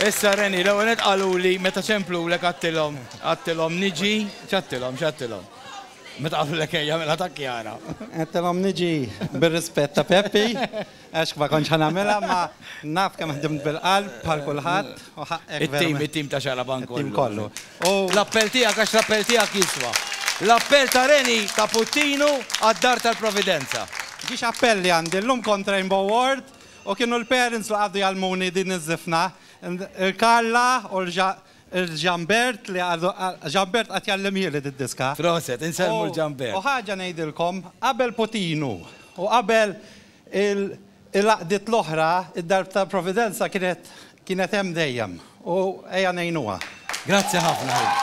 Issa Reni, l-ewwel nett qaluli meta ċemplulek għadtilhom, għadtilhom niġi, x'għadtilhom, x'għadtilhom? Meta qalulek ejja mela ta' Kjara. Għedtilhom niġi bir-rispett ta' Peppi, għax ma kontx ħa nagħmilha, ma naf kemm ħdimt bil-qalb bħal kulħadd u ħaqqek It-tim, it-tim ta' Xarabank kollu. It-tim kollu. U l-appell tiegħek għax l-appell tiegħek jiswa. L-appell ta' Reni ta' Puttinu għad-Dar tal-Providenza. Ġiex appelli għandi llum kont Rainbow Ward U kienu l-parents li qagħdu jgħallmuni din iż-żifna. Il-Carla u l-Jean-Bert li għadu, Jean-Bert qagħad jgħallimhieli did-diska. Proset, insellmu l-Jean-Bert. U ħaġa ngħidilkom, qabel Putinu u qabel il-għaqdiet l-oħra, id-Dar tal-Providenza kienet kienet hemm dejjem u ejja ngħinuha. Grazzi ħafna ħi.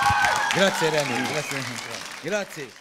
Grazzi Remy. Grazzi. Grazzi.